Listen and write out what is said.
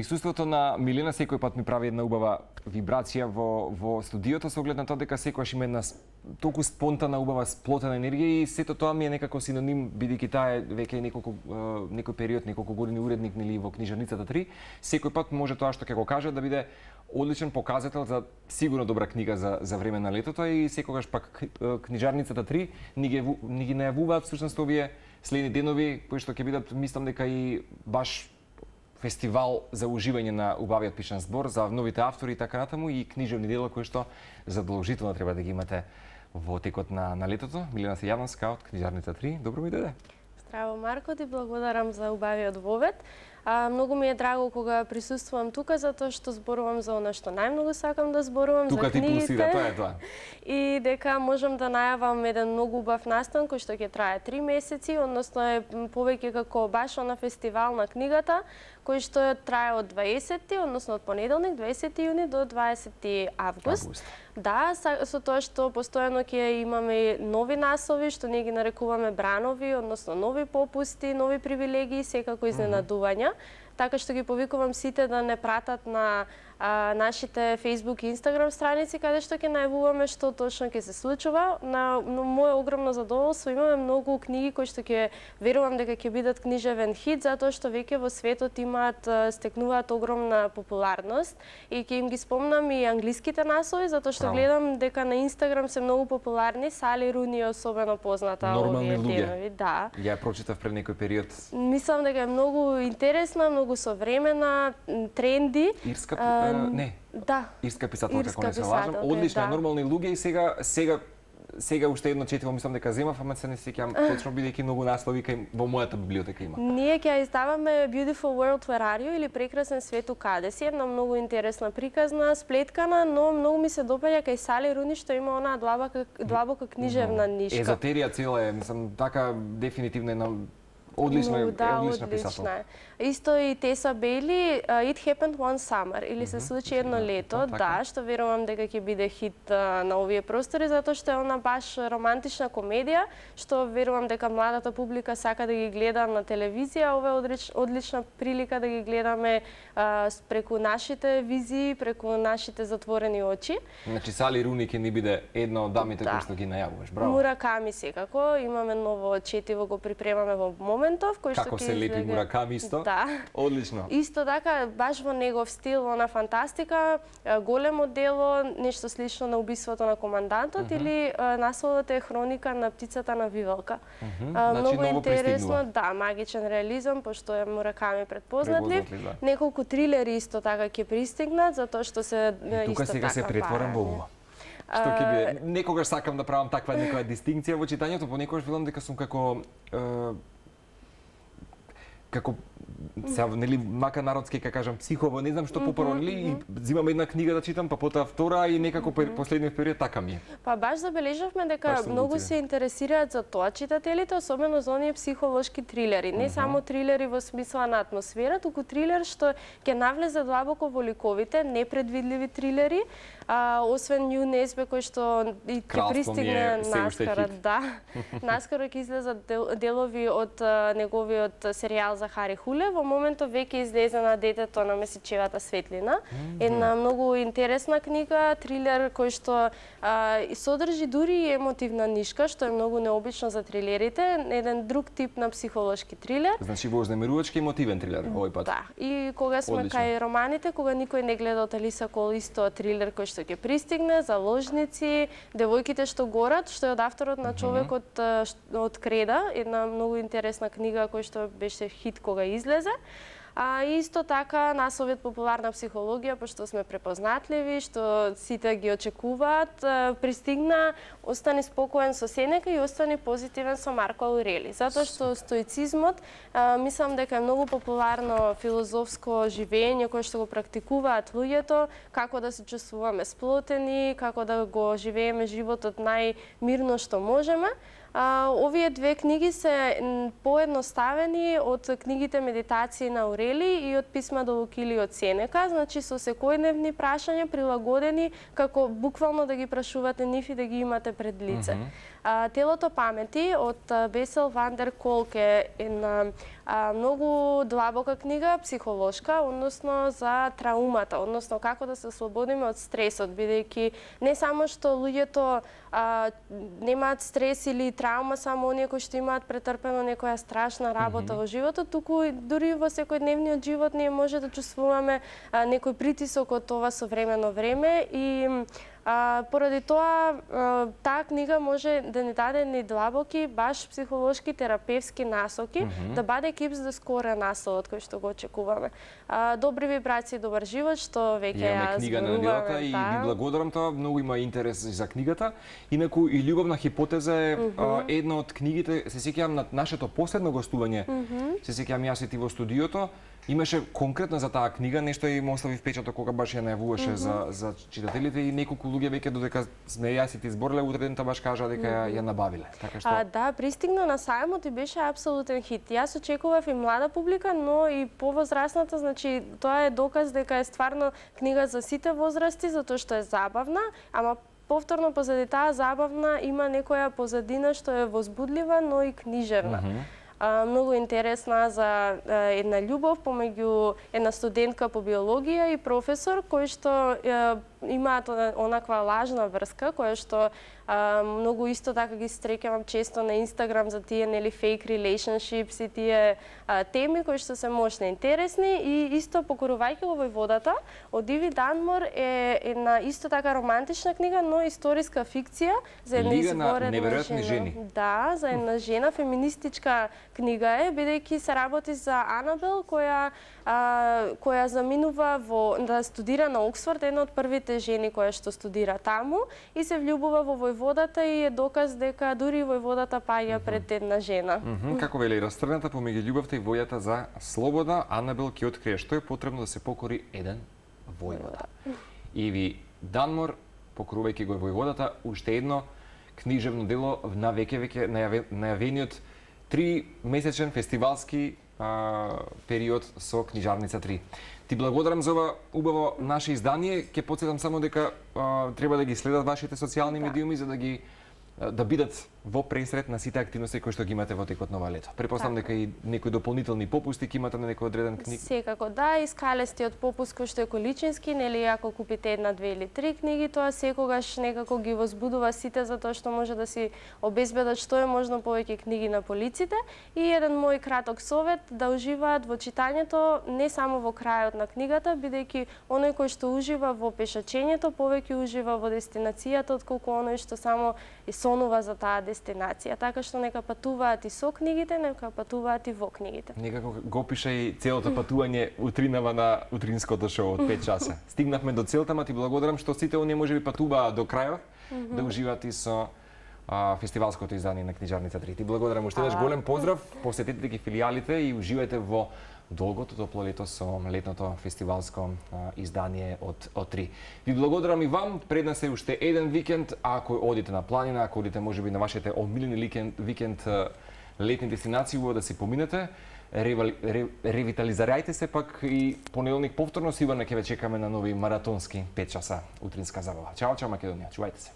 Присуството на Милена секој пат ми прави една убава вибрација во студиото, со оглед на тоа дека секогаш има една толку спонтана, убава, сплотена енергија и сето тоа ми е некако синоним, бидејќи таа е веќе некој период, неколку години уредник нели во книжарницата 3, секој пат може тоа што ќе го каже да биде одличен показател за сигурно добра книга за време на летото и секогаш пак книжарницата 3 ни ги најавуваат всушност овие следни денови кои што ќе бидат, мислам дека и баш фестивал за уживање на убавиот пишан збор за новите автори и така натаму и книжевни дела кои што задолжително треба да ги имате во текот на летото. Милена Сејавновска од книжарница 3. Добро ми дојде. Здраво, Марко, ти благодарам за убавиот вовед. Многу ми е драго кога присуствувам тука затоа што зборувам за она што најмногу сакам да зборувам, тука за книгите. Тука ти пулсира, тоа е тоа. И дека можам да најавам еден многу убав настан кој што ќе трае 3 месеци, односно е повеќе како баш на фестивал на книгата, кој што трае од 20, односно од понеделник 20 јуни до 20 август. Да, со тоа што постојано ќе имаме нови насови, што ние ги нарекуваме бранови, односно нови попусти, нови привилегии, секако изненадувања. Така што ги повикувам сите да не пратат на нашите Facebook и Instagram страници, каде што ќе најавуваме што точно ќе се случува. На моје огромно задоволство имаме многу книги кои што ќе верувам дека ќе бидат книжевен хит, затоа што веќе во светот стекнуваат огромна популарност и ќе им ги спомнам и англиските насови, затоа што гледам дека на Instagram се многу популарни. Сали Руни е особено позната овие денови. Да. Ја прочитав пред некој период. Мислам дека е многу интересна, многу современа, тренди. Ирска не. Да. Ирска писателка, ако не се лажам. Одлична, нормални луѓе и сега уште едно четиво мислам дека земав, ама се не сеќавам точно бидејќи многу наслови кај во мојата библиотека има. Ние ќе издаваме Beautiful World Where Are You или Прекрасен свет у каде си, една многу интересна приказна, сплеткана, но многу ми се допаѓа кај Сали Руни што има онаа длабока книжевна нишка. Езотерија цела е, мислам, така дефинитивно една одлична писателка. Исто и Теса Бейли, It Happened One Summer, или се случи едно лето, да, што верувам дека ќе биде хит на овие простори, затоа што е она баш романтична комедија, што верувам дека младата публика сака да ги гледа на телевизија. Ова е одлична прилика да ги гледаме преку нашите визии, преку нашите затворени очи. Значи Сали Руни ќе ни биде една од дамите кои што ги најавуваш. Браво. Мураками секако, имаме ново четиво, го припремаме во моментов, кој што како се лепи Мураками исто? Да. Одлично. Исто така, баш во негов стил, она фантастика, големо дело, нешто слично на убиството на командантот или насловот е Хроника на птицата на Вивалка. Многу интересно, да, магичен реализам, пошто е Мураками предпознатлив. Неколку трилери исто така ќе пристигнат, затоа што се тука сега се претворам во ума. Што ќе биде? Некогаш сакам да правам таква некоја дистинкција во читањето, понекогаш велам дека сум како сега, нели, мака народски, ка кажам, психово, не знам што попрво, нели, и зимам една книга да читам, па потоа втора и некако последниот период така ми е. Па баш забележавме дека многу се интересираат за тоа читателите, особено за оние психолошки трилери. Не само трилери во смисла на атмосфера, туку трилер што ќе навлезе длабоко во ликовите, непредвидливи трилери, освен Нью Несбе кој што ќе пристигне наскоро, да. Наскоро ќе излезат делови од неговиот серијал за Хари Хуле. Во моментов веќе излезе на Детето на месечевата светлина. Една многу интересна книга, трилер кој што содржи дури и емотивна нишка, што е многу необично за трилерите, еден друг тип на психолошки трилер. Значи вознемирувачки емотивен трилер овој пат. Да. И кога сме кај романите, кога никој не гледа од Алиса Кол, исто трилер кој што ќе пристигне, заложници, девојките што горат, што е од авторот на Човекот од Креда, една многу интересна книга која што беше хит кога излезе. Исто така насловот популарна психологија, пошто сме препознатливи, што сите ги очекуваат, пристигна Остани спокоен со Сенека и Остани позитивен со Марко Аурели. Затоа што стоицизмот, мислам дека е многу популарно филозофско живење кое што го практикуваат луѓето, како да се чувствуваме сплотени, како да го живееме животот најмирно што можеме. Овие две книги се поедноставени од книгите Медитации на Аурели и од Писма до Лукили од Сенека, значи со секојдневни прашања прилагодени како буквално да ги прашувате нив и да ги имате пред лице. Телото памети од Бесел Ван дер Колк е една Многу длабока книга, психолошка, односно за траумата, односно како да се ослободиме од стресот, бидејќи не само што луѓето немаат стрес или траума само оние кои што имаат претрпено некоја страшна работа во животот, туку дури во секојдневниот живот ние може да чувствуваме некој притисок од това современо време и поради тоа таа книга може да ни даде ни длабоки, баш психолошки, терапевски насоки, да биде keeps the score насловот кој што го очекуваме. Добри вибрации, добар живот, што веќе ја книга на неделата и ви благодарам тоа, многу има интерес за книгата. Инаку и љубовна хипотеза е една од книгите, се сеќавам на нашето последно гостување, се сеќавам јас и ти во студиото, имаше конкретно за таа книга нешто и му остави впечаток кога баш ја најавуваше за читателите и неколку луѓе веќе додека сме јас и ти збореле утре дента баш кажа дека ја набавиле. Така што да, пристигна на сајмот и беше апсолутен хит. Јас очекував и млада публика, но и повозрасната, значи тоа е доказ дека е стварно книга за сите возрасти затоа што е забавна, ама повторно позади таа забавна има некоја позадина што е возбудлива, но и книжевна. Многу интересна за една љубов помеѓу една студентка по биологија и професор кој што имаат онаква лажна врска која што многу исто така ги стрекавам често на Инстаграм за тие нели fake relationships и тие теми кои што се мощни, интересни и исто покорувајќи го војводата од Иви Данмор е една исто така романтична книга, но историска фикција за една изворена жена. Да, за една жена, феминистичка книга е, бидејќи се работи за Анабел која заминува да студира на Оксфорд, една од првите жени која што студира таму и се влюбува во војводата и е доказ дека дури војводата паѓа пред една жена. Како вели растргната помеѓу љубовта и војата за слобода, Анабел ќе открие што е потребно да се покори еден војвода. Иви Данмор, покорувајќи го војводата, уште едно книжевно дело на веќе најавениот 3-месечен фестивалски период со Книжарница 3. Ти благодарам за ова убаво наше издание. Ќе потсетам само дека треба да ги следат вашите социјални медиуми за да бидат во пресред на сите активности кои што ги имате во текот на ова лето. Претпоставам дека и некои дополнителни попусти ќе имате на некој одреден книга. Секако да, и скалестиот попуст кој што е количински, нели ако купите една, две или три книги, тоа секогаш некако ги возбудува сите затоа што може да си обезбедат што е можно повеќе книги на полиците и еден мој краток совет да уживаат во читањето не само во крајот на книгата, бидејќи оној кој што ужива во пешачењето повеќе ужива во дестинацијата отколку оној што само сонува за таа дестинација, така што нека патуваат и со книгите, нека патуваат и во книгите. Некако го пиша и целото патување утринава на утринското шоу од 5 часа. Стигнавме до целта, ма ти благодарам што сите оние можеби патуваат до крајот да уживаат и со фестивалското издание на Книжарница 3. Ти благодарам уште еднаш, голем поздрав, посетете ги филијалите и уживајте во долгото топло лето со летното фестивалско издание од 3. Ви благодарам и вам, пред нас е уште еден викенд, ако одите на планина, ако одите можеби на вашите омилени викенд летни дестинации, убаво да си поминете, ревитализирајте се, пак и понеделник повторно сигурно ќе ве чекаме на нови маратонски 5 часа утринска забава. Чао, чао Македонија, чувајте се.